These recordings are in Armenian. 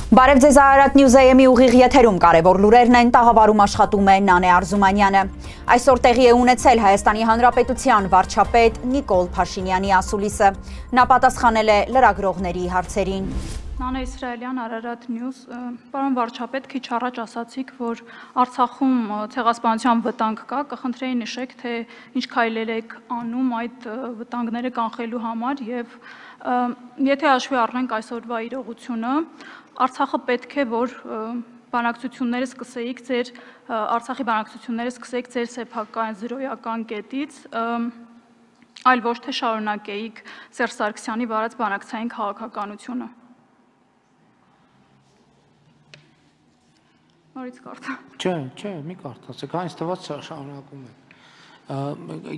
Բարև ձեզ Արարատ Նյուզ-ը-եմի ուղիղ եթերում կարևոր լուրերն են, տաղավարում աշխատում է Նանե Արզումանյանը։ Այսօր տեղի է ունեցել Հայաստանի Հանրապետության վարչապետ Նիկոլ Փաշինյանի ասուլիսը։ Նա պատասխանել է լրագրողների հարցերին։ Նանե Իսրայելյան, Արարատ Նյուզ, պարոն վարչապետ, քիչ առաջ ասացիք, որ Արցախում ցեղասպանության վտանգ կա, կխնդրեի նշեք, թե ինչ քայլեր եք անում այդ վտանգները կանխելու համար եւ եթե հաշվի առնենք այսօրվա իրողությունը, Արցախը պետք է, որ բանակցությունները սկսեիք ձեր Արցախի բանակցությունները սկսեիք ձեր սեփական զրոյական կետից, այլ ոչ թե շարունակեիք Սերժ Սարգսյանի վարած բանակցային քաղաքականությունը։ Նորից կարդա։ Չէ, մի կարդացեք, այնց թվաց շարունակում եք։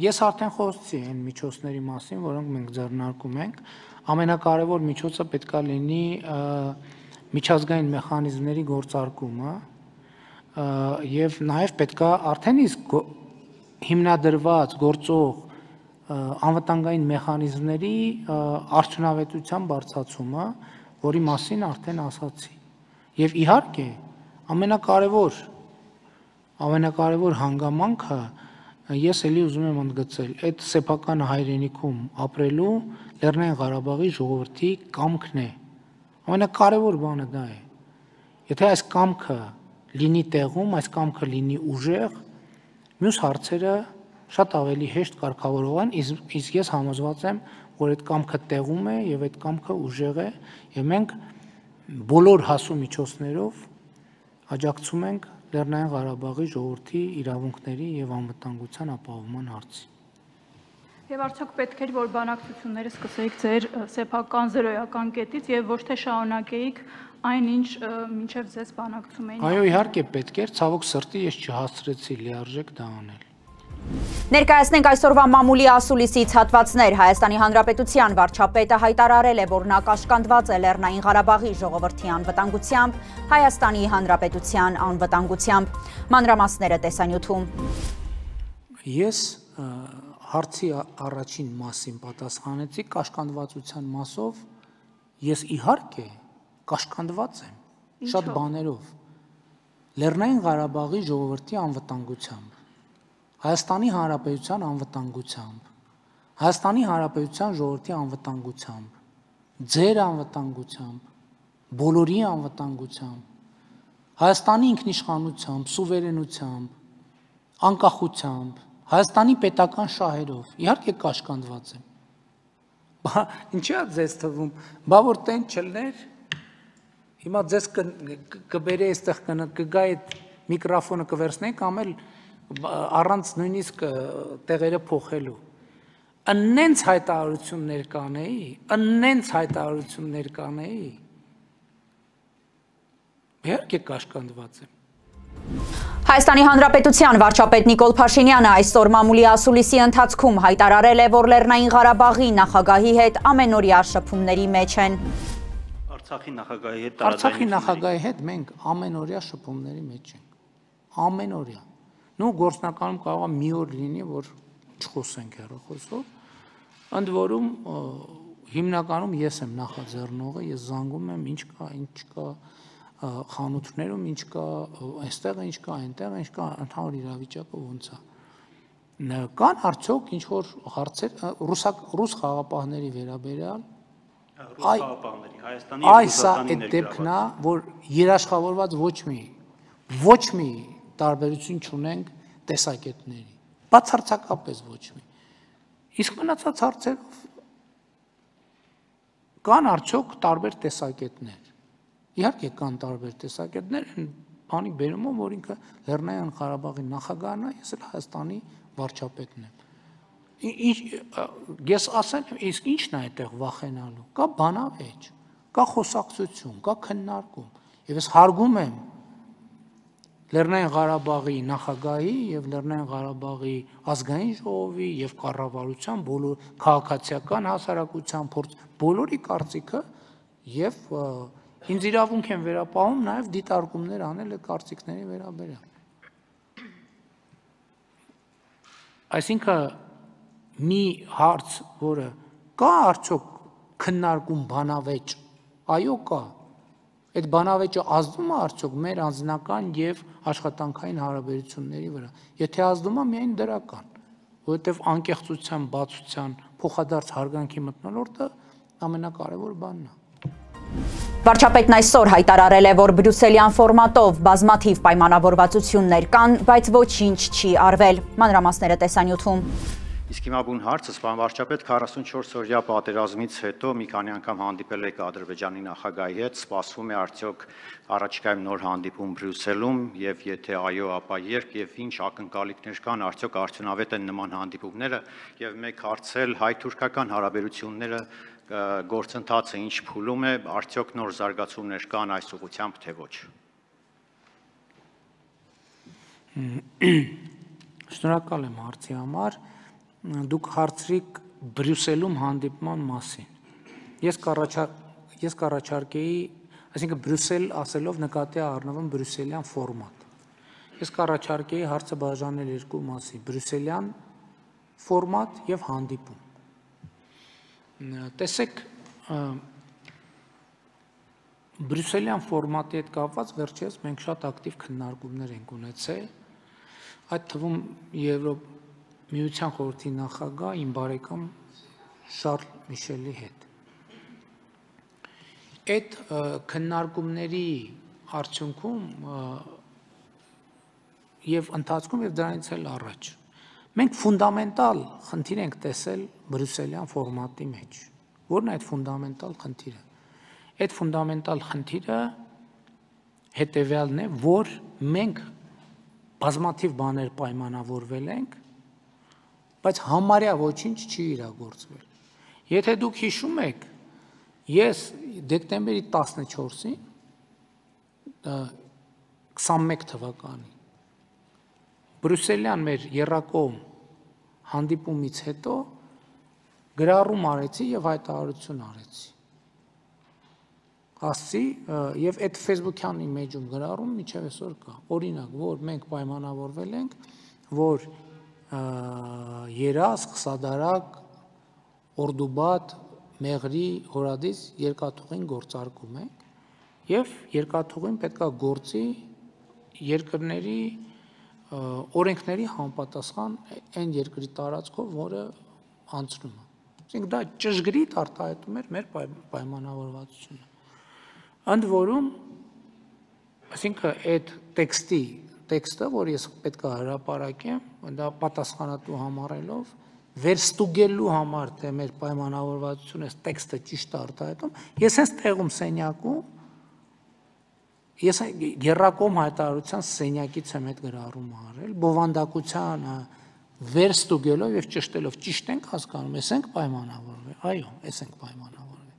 Ես արդեն խոսեցի այն միջոցների մասին, որոնք մենք ձեռնարկում ենք։ Ամենակարևոր միջոցը պետքա լինի միջազգային մեխանիզմների գործարկումը եւ նաեւ պետքա արդեն իսկ հիմնադրված գործող անվտանգային մեխանիզմների արդյունավետության բարձրացումը, որի մասին արդեն ասացի։ Եվ իհարկե ամենակարևոր հանգամանքը ես էլի ուզում եմ ընդգծել, այդ սեփական հայրենիքում ապրելու Լեռնային Ղարաբաղի ժողովրդի կամքն է։ Ամենակարևոր բանը դա է։ Եթե այս կամքը լինի տեղում, այս կամքը լինի ուժեղ, մյուս հարցերը շատ ավելի հեշտ կարգավորվեն, իսկ ես համոզված եմ, որ այդ կամքը տեղում է եւ այդ կամքը ուժեղ է, եւ մենք բոլոր հասու միջոցներով աջակցում ենք Լեռնային Ղարաբաղի ժողովրդի իրավունքների եւ անվտանգության ապահովման հարցին։ Եվ արդյոք պետք էր, որ բանակցությունները սկսեիք ձեր սեփական զրոյական կետից եւ ոչ թե շարունակեիք այնինչ մինչեւ ձեզ բանակցում էին։ Այո, իհարկե պետք էր, ցավոք սրտի ես չհասցրեցի լիարժեք դա անել։ Ներկայացնենք այսօրվա մամուլի ասուլիսից հատվածներ։ Հայաստանի Հանրապետության վարչապետը հայտարարել է, որ նա կաշկանդված է Լեռնային Ղարաբաղի ժողովրդի անվտանգությամբ, Հայաստանի Հանրապետության անվտանգությամբ։ Մանրամասները տեսանյութում։ Ես հարցի առաջին մասին պատասխանեցի կաշկանդվածության մասով, ես իհարկե կաշկանդված եմ շատ բաներով։ Լեռնային Ղարաբաղի ժողովրդի անվտանգությամբ, Հայաստանի Հանրապետության անվտանգությամբ, Հայաստանի Հանրապետության ժողովրդի անվտանգությամբ, ձեր անվտանգությամբ, բոլորի անվտանգությամբ, Հայաստանի ինքնիշխանությամբ, սուվերենությամբ, անկախությամբ, Հայաստանի պետական շահերով, իհարկե կաշկանդված եմ։ Ինչի՞ է ձեզ թվում, բա որ տեն չլներ, հիմա ձեզ կբերի այստեղ կգա այդ միկրոֆոնը կվերցնենք, ամել առանց նույնիսկ տեղերը փոխելու։ Ըննենց հայտարարություններ կանեի, իհարկե կաշկանդված եմ։ Հայաստանի Հանրապետության վարչապետ Նիկոլ Փաշինյանը այսօր մամուլի ասուլիսի ընթացքում հայտարարել է, որ Լեռնային Ղարաբաղի նախագահի հետ ամենօրյա շփումների մեջ են։ Արցախի նախագահի հետ մենք ամենօրյա շփումների մեջ ենք։ Ամենօրյա։ Նու գործնականում կարող է մի օր լինի, որ չխոսենք հեռախոսով, ընդ որում հիմնականում ես եմ նախաձեռնողը, ես զանգում եմ ինչ կա խանութներում, ինչ կա այստեղ, ինչ կա այնտեղ, ինչ կա ընդհանուր իրավիճակը ոնց է։ Կան արդյոք ինչ որ հարցեր ռուս խաղապահների վերաբերյալ։ Այս այդ դեպքն է, որ երաշխավորված ոչ մի տարբերություն չունենք տեսակետների, բացարձակապես ոչ մի։ Իսկ մնացած հարցերով կան արդյոք տարբեր տեսակետներ։ Իհարկե կան տարբեր տեսակետներ, բանի բերումով, որ ինքը Լեռնային Ղարաբաղի նախագահն է, ես էլ Հայաստանի վարչապետն եմ։ Ես ասել եմ, իսկ ի՞նչն է այդտեղ վախենալու։ Կա բանավեճ, կա խոսակցություն, կա քննարկում, եւ ես հարգում եմ Լեռնային Ղարաբաղի նախագահի եւ Լեռնային Ղարաբաղի ազգային ժողովի եւ կառավարության բոլոր քաղաքացիական հասարակության բոլորի կարծիքը եւ ինձ իրավունք են վերապահում նաեւ դիտարկումներ անել այդ կարծիքների վերաբերյալ։ Այսինքն մի հարց, որը կա արդյոք քննարկում բանավեճ, այո կա, Այդ բանավեճը ազդում է արդյոք մեր անձնական եւ աշխատանքային հարաբերությունների վրա։ Եթե ազդում է, միայն դրական, որովհետեւ անկեղծության, բացության, փոխադարձ հարգանքի մթնոլորտը ամենակարևոր բանն է։ Վարչապետն այսօր հայտարարել է, որ բրյուսելյան ֆորմատով բազմաթիվ պայմանավորվածություններ կան, բայց ոչինչ չի արվել։ Մանրամասները տեսանյութում։ Իսկ հիմա բուն հարցը, պարոն վարչապետ, 44-օրյա պատերազմից հետո մի քանի անգամ հանդիպել եք Ադրբեջանի նախագահի հետ, սպասվում է արդյոք առաջիկայում նոր հանդիպում Բրյուսելում, եւ եթե այո, ապա երբ եւ ինչ ակնկալիքներ կան, արդյոք արդյունավետ են նման հանդիպումները, եւ մեկ հարցել հայ-թուրքական հարաբերությունները գործընթացը ինչ փուլում է, արդյոք նոր զարգացումներ կան այս ուղղությամբ, թե ոչ։ Շնորհակալ եմ հարցի համար։ Դուք հարցրիք Բրյուսելում հանդիպման մասին։ Ես կառաջարկեի, այսինքն Բրյուսել ասելով նկատի առնվում բրյուսելյան ֆորմատ։ Ես կառաջարկեի հարցը բաժանել երկու մասի՝ բրյուսելյան ֆորմատ եւ հանդիպում։ Տեսեք, բրյուսելյան ֆորմատի հետ կապված վերջերս մենք շատ ակտիվ քննարկումներ ենք ունեցել, այդ թվում Միության խորհրդի նախագահ իմ բարեկամ Շարլ Միշելի հետ։ Այդ քննարկումների արդյունքում եւ ընթացքում եւ դրանից էլ առաջ մենք ֆունդամենտալ խնդիր ենք տեսել բրյուսելյան ֆորմատի մեջ։ Որն է այդ ֆունդամենտալ խնդիրը։ Այդ ֆունդամենտալ խնդիրը հետեւյալն է, որ մենք բազմաթիվ բաներ պայմանավորվել ենք, բայց համարյա ոչինչ չի իրագործվել։ Եթե դուք հիշում եք, ես դեկտեմբերի 14-ին 21 թվականի բրյուսելյան մեր եռակողմ հանդիպումից հետո գրառում արեցի եւ հայտարարություն արեցի։ Ասացի եւ այդ Facebook-յան իմեջում գրառում միջև այսօր կա։ Օրինակ, որ մենք պայմանավորվել ենք, որ Երազք, Սադարակ, Օրդուբադ, Մեղրի, Հորադիս երկաթուղին գործարկում ենք եւ երկաթուղին պետք է գործի երկրների օրենքների համապատասխան այն երկրի տարածքով, որը անցնում է։ Այսինքն դա ճշգրիտ արտահայտում էր մեր պայմանավորվածությունը։ Ընդ որում, այսինքն այդ տեքստը, որ ես պետք է հրապարակեմ, դա պատասխանատու համարելով վերստուգելու համար, թե մեր պայմանավորվածությունը այս տեքստը ճիշտ է արտահայտում, ես հենց տեղում սենյակում ես եռակողմ հայտարարության սենյակից եմ այդ գրառումը արել, բովանդակությանը վերստուգելով եւ ճշտելով, ճիշտ ենք հասկանում, ես ենք պայմանավորվել, այո, ես ենք պայմանավորվել։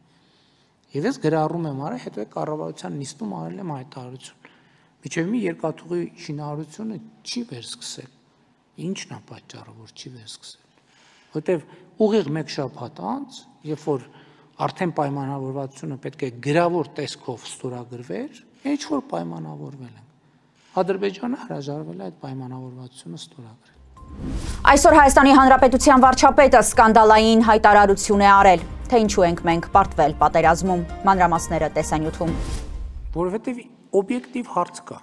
Եվ ես գրառում եմ արել, հետո կառավարության նիստում արել եմ հայտարարություն։ Միջև մի երկաթուղի շինարարությունը չի վերսկսել։ Ինչն է պատճառը, որ չի վերսկսել։ Որտեւ ուղիղ մեկ շաբաթ անց, երբ որ արդեն պայմանավորվածությունը պետք է գրավոր տեսքով ստորագրվեր, ինչ որ պայմանավորվել ենք։ Ադրբեջանը հրաժարվել է այդ պայմանավորվածությունը ստորագրել։ Այսօր Հայաստանի Հանրապետության վարչապետը սկանդալային հայտարարություն է արել, թե ինչու ենք մենք պարտվել պատերազմում, մանրամասները տեսանյութում։ Որովհետև օբյեկտիվ հարց կա։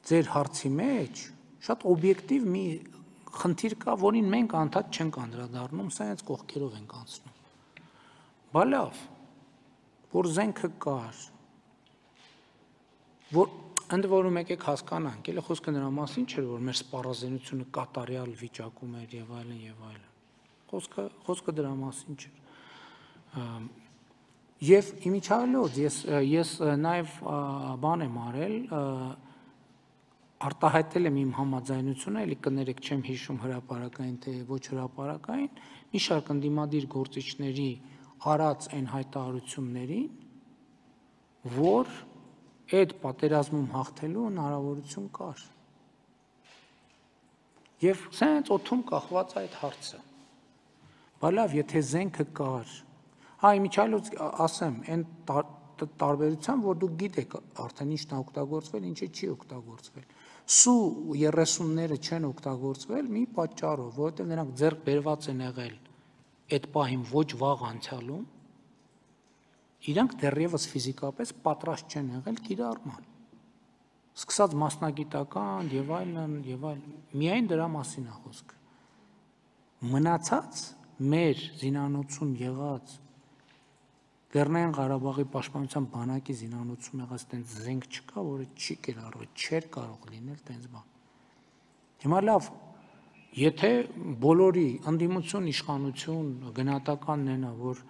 Ձեր հարցի մեջ շատ օբյեկտիվ մի խնդիր կա, որին մենք անդադ չենք անդրադառնում, սա հենց կողքերով ենք անցնում։ Բա լավ, որ զենքը կար, որ ընդ որում եկեք հասկանանք, էլի խոսքը նրա մասին չէր, որ մեր սպառազինությունը կատարյալ վիճակում էր եւ այլն եւ այլն։ Խոսքը դրա մասին չէր։ Եվ իմիջիալոց ես նաեւ բան եմ արել, արտահայտել եմ իմ համաձայնությունը, էլի կներեք, չեմ հիշում հրապարակային թե ոչ հրապարակային, մի շարք ընդդիմադիր գործիչների արած այն հայտարարություններին, որ այդ պատերազմում հաղթելու հնարավորություն կար։ Եվ սենց օդում կախված այդ հարցը։ Բա լավ, եթե զենքը կար, իմիջիալոց ասեմ, այն տարբերությամբ, որ դուք գիտեք արդեն ինչն է օգտագործվել, ինչը չի օգտագործվել։ Սու 30-ները չեն օգտագործվել մի պատճառով, որովհետև նրանք ձեռք բերված են եղել այդ պահին ոչ վաղ անցյալում, իրանք դեռևս ֆիզիկապես պատրաստ չեն եղել կիրառման։ Սկսած մասնագիտական եւ այլն, միայն դրա մասին է խոսքը։ Մնացած մեր զինանոցում եղած Լեռնային Ղարաբաղի պաշտպանության բանակի զինանոցում եղած տենց զենք չկա, որը չի կիրառվել, չէր կարող լինել տենց բան։ Հիմա լավ, եթե բոլորի ընդդիմություն, իշխանություն, գնահատականն են, որ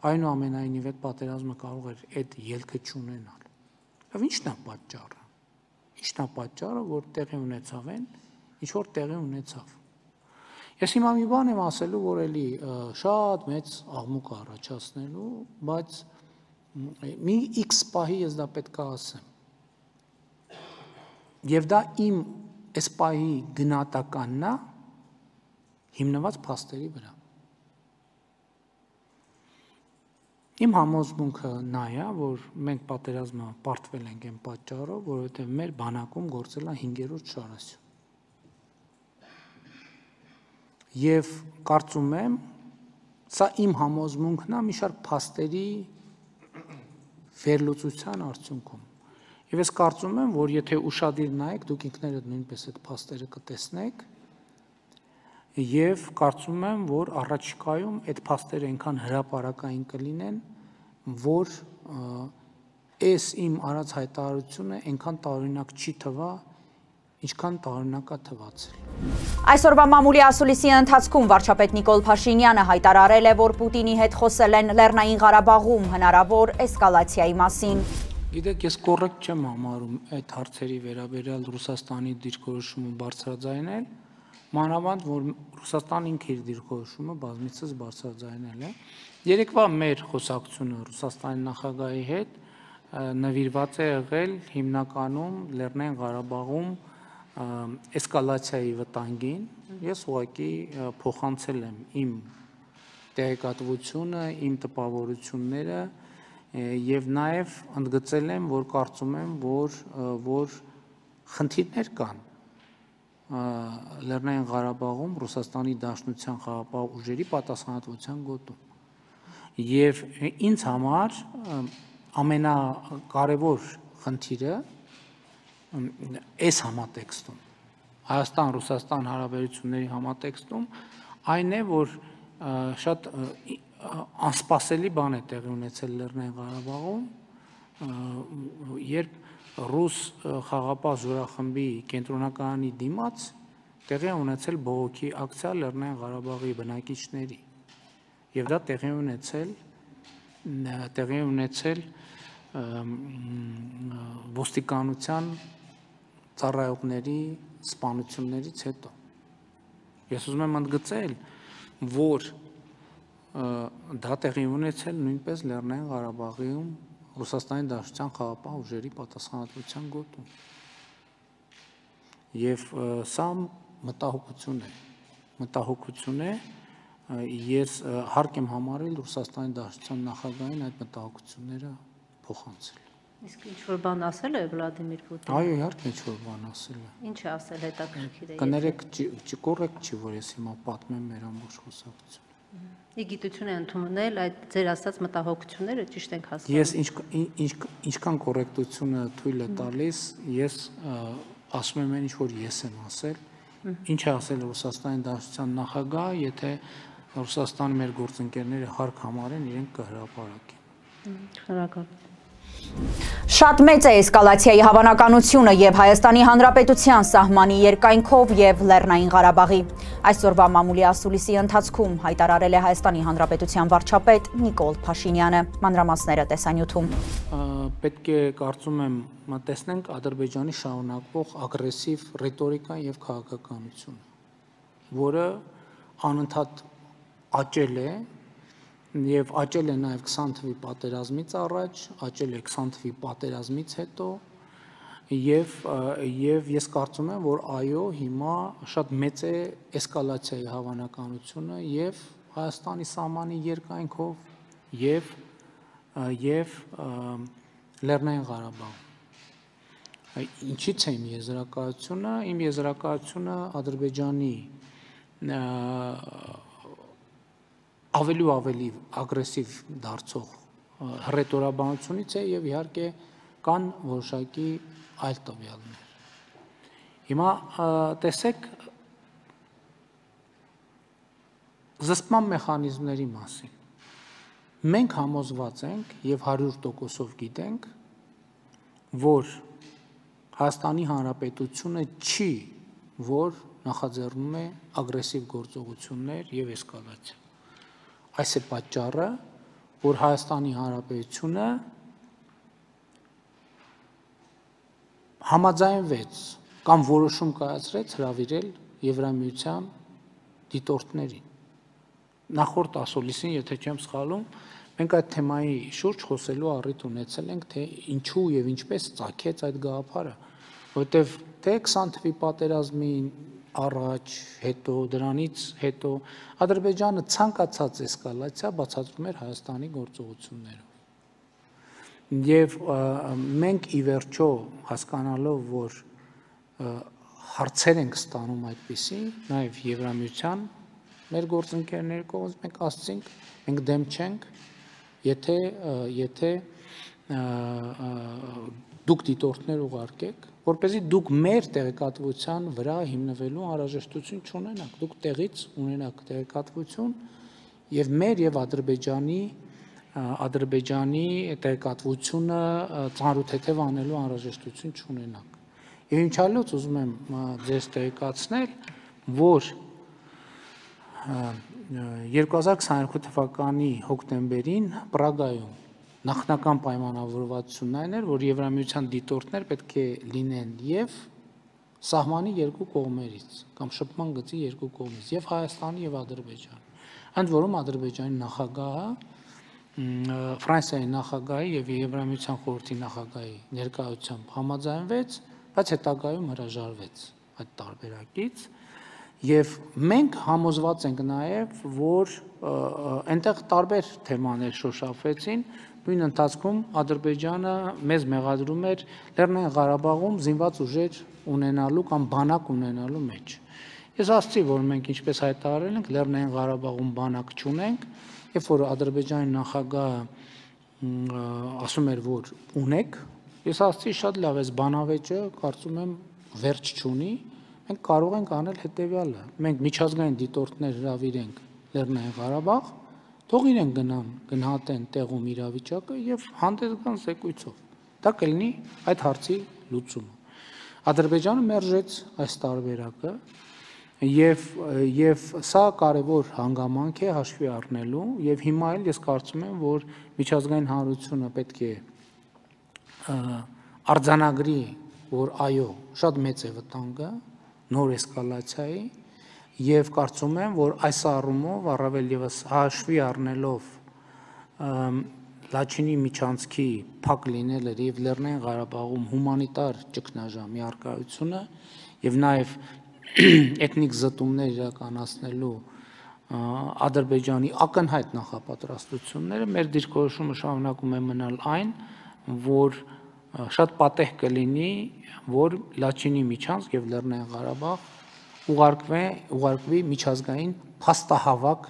այնուամենայնիվ այդ պատերազմը կարող էր այդ ելքը չունենալ։ Լավ, ի՞նչն է պատճառը։ Ի՞նչն է պատճառը, որ տեղի ունեցավ այն, ինչ որ տեղի ունեցավ։ Ես հիմա մի բան եմ ասելու, որ էլի շատ մեծ աղմուկ առաջացնելու, բայց մի X պահի ես դա պետք է ասեմ։ Եվ դա իմ այս պահի գնահատականն է հիմնված փաստերի վրա։ Իմ համոզմունքը նա է, որ մենք պատերազմը պարտվել ենք այն պատճառով, որովհետև մեր բանակում գործել է 5-րդ շարասյուն։ Եվ կարծում եմ, սա իմ համոզմունքն է մի շարք փաստերի վերլուծության արդյունքում։ Եվ ես կարծում եմ, որ եթե ուշադիր նայեք, դուք ինքներդ նույնպես այդ փաստերը կտեսնեք, եւ կարծում եմ, որ առաջիկայում այդ փաստերը այնքան հրապարակային կլինեն, որ այս իմ արած հայտարարությունը այնքան տարօրինակ չի թվա, ինչքան տարօրինակ է թվացել։ Այսօրվա մամուլի ասուլիսի ընթացքում վարչապետ Նիկոլ Փաշինյանը հայտարարել է, որ Պուտինի հետ խոսել են Լեռնային Ղարաբաղում հնարավոր էսկալացիայի մասին։ Գիտեք, ես կոռեկտ չեմ համարում այդ հարցերի վերաբերյալ Ռուսաստանի դիրքորոշումը բարձրաձայնել, մանավանդ որ Ռուսաստանն ինքը իր դիրքորոշումը բազմիցս բարձրաձայնել է։ Երեկվա մեր խոսակցությունը Ռուսաստանի նախագահի հետ նվիրված է եղել հիմնականում Լեռնային Ղարաբաղում էսկալացիայի վտանգին։ Ես ուղղակի փոխանցել եմ իմ տեղեկատվությունը, իմ տպավորությունները եւ նաեւ ընդգծել եմ, որ կարծում եմ, որ խնդիրներ կան Լեռնային Ղարաբաղում Ռուսաստանի Դաշնության խաղաղապահ ուժերի պատասխանատվության գոտում։ Եվ ինձ համար ամենակարևոր խնդիրը այս համատեքստում, Հայաստան-Ռուսաստան հարաբերությունների համատեքստում այն է, որ շատ անսպասելի բան է տեղի ունեցել Լեռնային Ղարաբաղում, երբ ռուս խաղաղապահ զորախմբի կենտրոնականի դիմաց տեղի է ունեցել բողոքի ակցիա Լեռնային Ղարաբաղի բնակիչների, եւ դա տեղի ունեցել ոստիկանության ծառայողների սպանություններից հետո։ Ես ուզում եմ ընդգծել, որ դա տեղի ունեցել նույնպես Լեռնային Ղարաբաղում Ռուսաստանի Դաշնության խաղաղապահ ուժերի պատասխանատվության գոտում։ Եվ սա մտահոգություն է, ես հարկ եմ համարել Ռուսաստանի Դաշնության նախագահին այդ մտահոգությունները փոխանցել։ Իսկ ինչ-որ բան ասել է Վլադիմիր Պուտինը։ Այո, իհարկե ինչ-որ բան ասել է։ Ինչ է ասել, հետաքրքիր է։ Կներեք, կոռեկտ չի, որ ես հիմա պատմեմ մեր ամբողջ խոսակցությունը։ Ի գիտություն է ընդունել այդ ձեր ասած մտահոգությունները, ճիշտ ենք հասկանում։ Ես ինչքան կոռեկտությունը թույլ է տալիս, ես ասում եմ այն, ինչ որ ես եմ ասել, ինչ է ասել Ռուսաստանի Դաշնության նախագահ, եթե Ռուսաստանի մեր գործընկերները հարկ համարեն, իրենք կհրապարակեն։ Շնորհակալ։ Շատ մեծ է էսկալացիայի հավանականությունը եւ Հայաստանի Հանրապետության սահմանի երկայնքով եւ Լեռնային Ղարաբաղի։ Այսօրվա մամուլի ասուլիսի ընթացքում հայտարարել է Հայաստանի Հանրապետության վարչապետ Նիկոլ Փաշինյանը։ Մանրամասները տեսանյութում։ Պետք է կարծում եմ տեսնենք Ադրբեջանի շարունակվող ագրեսիվ ռետորիկան եւ քաղաքականությունը, որը անընդհատ աճել է եւ աճել է նաեւ 20 թվականի պատերազմից առաջ, աճել է 20 թվականի պատերազմից հետո եւ ես կարծում եմ, որ այո, հիմա շատ մեծ է էսկալացիայի հավանականությունը եւ Հայաստանի սահմանի երկայնքով եւ Լեռնային Ղարաբաղում։ Ինչից է իմ եզրակացությունը։ Իմ եզրակացությունը Ադրբեջանի ավելի ու ավելի ագրեսիվ դարձող հռետորաբանությունից է եւ իհարկե կան որոշակի այլ տվյալներ։ Հիմա տեսեք զսպման մեխանիզմների մասին։ Մենք համոզված ենք եւ 100%-ով գիտենք, որ Հայաստանի Հանրապետությունը չի, որ նախաձեռնում է ագրեսիվ գործողություններ եւ էսկալացիա։ Այս է պատճառը, որ Հայաստանի Հանրապետությունը համաձայնվեց կամ որոշում կայացրեց հրավիրել Եվրամիության դիտորդներին։ Նախորդ ասուլիսին, եթե չեմ սխալում, մենք այդ թեմայի շուրջ խոսելու առիթ ունեցել ենք, թե ինչու եւ ինչպես ծագեց այդ գաղափարը, որովհետեւ թե 20 թվականի պատերազմի առաջ, հետո, դրանից հետո Ադրբեջանը ցանկացած էսկալացիա բացատրում էր Հայաստանի գործողություններով։ Եվ մենք ի վերջո հասկանալով, որ հարցեր ենք ստանում այդպիսի, նաեւ Եվրամիության մեր գործընկերների կողմից մենք ասացինք, մենք դեմ չենք, եթե դուք դիտորդներ ուղարկեք, որպեսզի դուք մեր տեղեկատվության վրա հիմնվելու անհրաժեշտություն չունենաք, դուք տեղից ունենաք տեղեկատվություն եւ մեր եւ Ադրբեջանի տեղեկատվությունը ծանրութեթև անելու անհրաժեշտություն չունենաք։ Եվ ինչալոց ուզում եմ ձեզ տեղեկացնել, որ 2022 թվականի հոկտեմբերին Պրագայում նախնական պայմանավորվածությունն այն էր, որ Եվրամիության դիտորդներ պետք է լինեն եւ սահմանի երկու կողմերից կամ շփման գծի երկու կողմից, եւ Հայաստանի եւ Ադրբեջանի։ Ընդ որում Ադրբեջանի նախագահը Ֆրանսիայի նախագահի եւ Եվրամիության խորհրդի նախագահի ներկայությամբ համաձայնվեց, բայց հետագայում հրաժարվեց այդ տարբերակից։ Եվ մենք համոզված ենք նաև, որ այնտեղ տարբեր թեմաներ շոշափվեցին, նույն ընթացքում Ադրբեջանը մեզ մեղադրում էր Լեռնային Ղարաբաղում զինված ուժեր ունենալու կամ բանակ ունենալու մեջ։ Ես ասացի, որ մենք ինչպես հայտարարել ենք, Լեռնային Ղարաբաղում բանակ չունենք, երբ որ Ադրբեջանի նախագահը ասում էր, որ ունեք, ես ասացի շատ լավ, այս բանավեճը կարծում եմ վերջ չունի, մենք կարող ենք անել հետևյալը, մենք միջազգային դիտորդներ հրավիրենք Լեռնային Ղարաբաղ, թող իրենք գնան, գնահատեն տեղում իրավիճակը եւ հանդես գան զեկույցով։ Դա կլինի այդ հարցի լուծումը։ Ադրբեջանը մերժեց այս տարբերակը եւ սա կարևոր հանգամանք է հաշվի առնելու եւ հիմա էլ ես կարծում եմ, որ միջազգային հանրությունը պետք է արձանագրի, որ այո, շատ մեծ է վտանգը նոր էսկալացիայի եւ կարծում եմ, որ այս առումով առավել եւս հաշվի առնելով Լաչինի միջանցքի փակ լինելը եւ Լեռնային Ղարաբաղում հումանիտար ճգնաժամի առկայությունը եւ նաեւ էթնիկ զտումներ իրականացնելու Ադրբեջանի ակնհայտ նախապատրաստությունները մեր դիրքորոշումը շարունակում է մնալ այն, որ շատ պատեհ կլինի, որ Լաչինի միջանցք եւ Լեռնային Ղարաբաղ ուղարկվի միջազգային փաստահավաք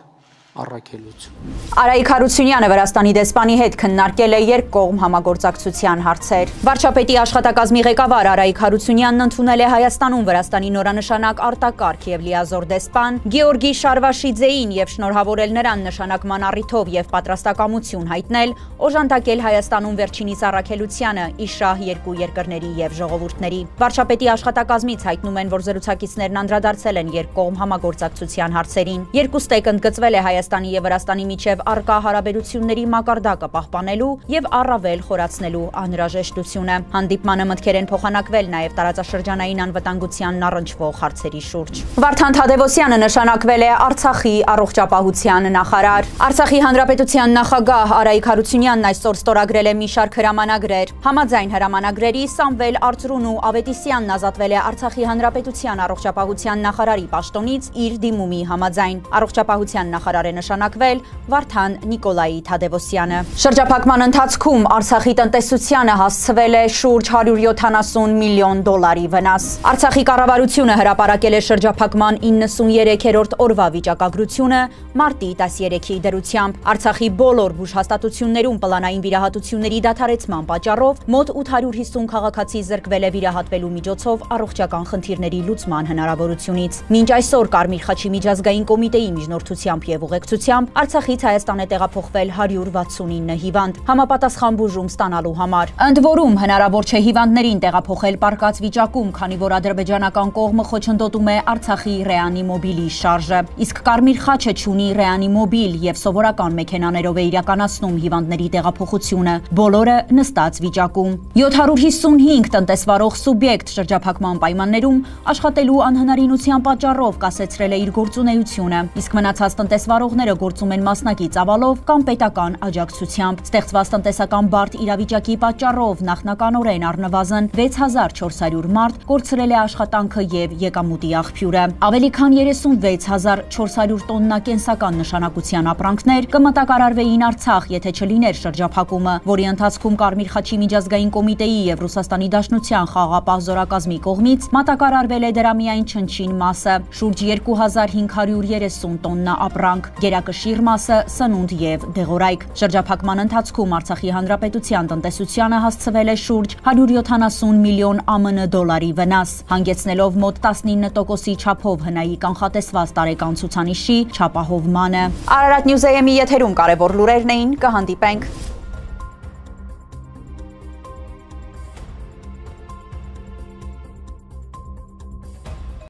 առաքելություն։ Արայիկ Հարությունյանը Վրաստանի դեսպանի հետ քննարկել է երկկողմ համագործակցության հարցեր։ Վարչապետի աշխատակազմի ղեկավար Արայիկ Հարությունյանն ընդունել է Հայաստանում Վրաստանի նորանշանակ արտակարգ եւ լիազոր դեսպան Գեորգի Շարվաշիձեին եւ շնորհավորել նրան նշանակման առիթով եւ պատրաստակամություն հայտնել օժանդակել Հայաստանում վերջինիս առաքելությանը իշահ երկու երկրների եւ ժողովուրդների։ Վարչապետի աշխատակազմից հայտնում են, որ զրուցակիցներն անդրադարձել են երկկողմ համագործակցության հարցերին։ Երկուստեք ընդգծվել է Հայաստանի եւ Վրաստանի միջև առկա հարաբերությունների մակարդակը պահպանելու եւ առավել խորացնելու անհրաժեշտությունը։ Հանդիպմանը մտքեր են փոխանակվել նաեւ տարածաշրջանային անվտանգությանն առնչվող հարցերի շուրջ։ Վարդան Թադևոսյանը նշանակվել է Արցախի առողջապահության նախարար։ Արցախի հանրապետության նախագահ Արայիկ Հարությունյանն այսօր ստորագրել է մի շարք հրամանագրեր։ Համաձայն հրամանագրերի Սամվել Արծրուն ու Ավետիսյանն ազատվել է Արցախի հանրապետության առողջապահության նախարարի պաշտոնից իր դիմումի համաձայն։ Առողջապահության նախարարը է նշանակվել Վարդան Նիկոլայի Թադևոսյանը։ Շրջափակման ընթացքում Արցախի տնտեսությանը հասցվել է շուրջ 170 միլիոն դոլարի վնաս։ Արցախի կառավարությունը հրապարակել է շրջափակման 93-րդ օրվա վիճակագրությունը մարտի 13-ի դրությամբ։ Արցախի բոլոր բուժհաստատություններում պլանային վիրահատությունների դադարեցման պատճառով մոտ 850 քաղաքացի զրկվել է վիրահատվելու միջոցով առողջական խնդիրների լուծման հնարավորությունից։ Մինչ այսօր Կարմիր խաչի միջազգային կոմիտեի միջնորդությամբ եւ ուղեկցությամբ Արցախից Հայաստան է տեղափոխվել 169 հիվանդ համապատասխան բուժում ստանալու համար։ Ընդ որում հնարավոր չէ հիվանդներին տեղափոխել պարկած վիճակում, քանի որ ադրբեջանական կողմը խոչընդոտում է Արցախի ռեանիմոբիլի շարժը։ Իսկ Կարմիր խաչը չունի ռեանիմոբիլ եւ սովորական մեքենաներով է իրականացնում հիվանդների տեղափոխությունը, բոլորը նստած վիճակում։ 755 տնտեսվարող սուբյեկտ շրջափակման պայմաններում աշխատելու անհնարինության պատճառով կասեցրել է իր գործունեությունը, իսկ մնացած տնտեսվարողները գործում են մասնակի ծավալով կամ պետական աջակցությամբ։ Ստեղծված տնտեսական բարդ իրավիճակի պատճառով նախնականորեն առնվազն 6400 մարդ կորցրել է աշխատանքը եւ եկամուտի աղբյուրը։ Ավելի քան 36400 տոննա կենսական նշանակության ապրանքներ կմտակարարվեին Արցախ, եթե չլիներ շրջափակումը, որի ընթացքում Կարմիր խաչի միջազգային կոմիտեի եւ Ռուսաստանի Դաշնության խաղաղապահ զորակազմի կողմից մատակարարվել է դրա միայն չնչին մասը՝ շուրջ 2530 տոննա ապրանք, գերակշիռ մասը սնունդ եւ դեղորայք։ Շրջափակման ընթացքում Արցախի հանրապետության տնտեսությանը հասցվել է շուրջ 170 միլիոն ԱՄՆ դոլարի վնաս, հանգեցնելով մոտ 19%-ի չափով հնայի կանխատեսված տարեկան ցուցանիշի չափահովմանը։ Արարատ News AM-ի եթերում կարևոր լուրերն էին, կհանդիպենք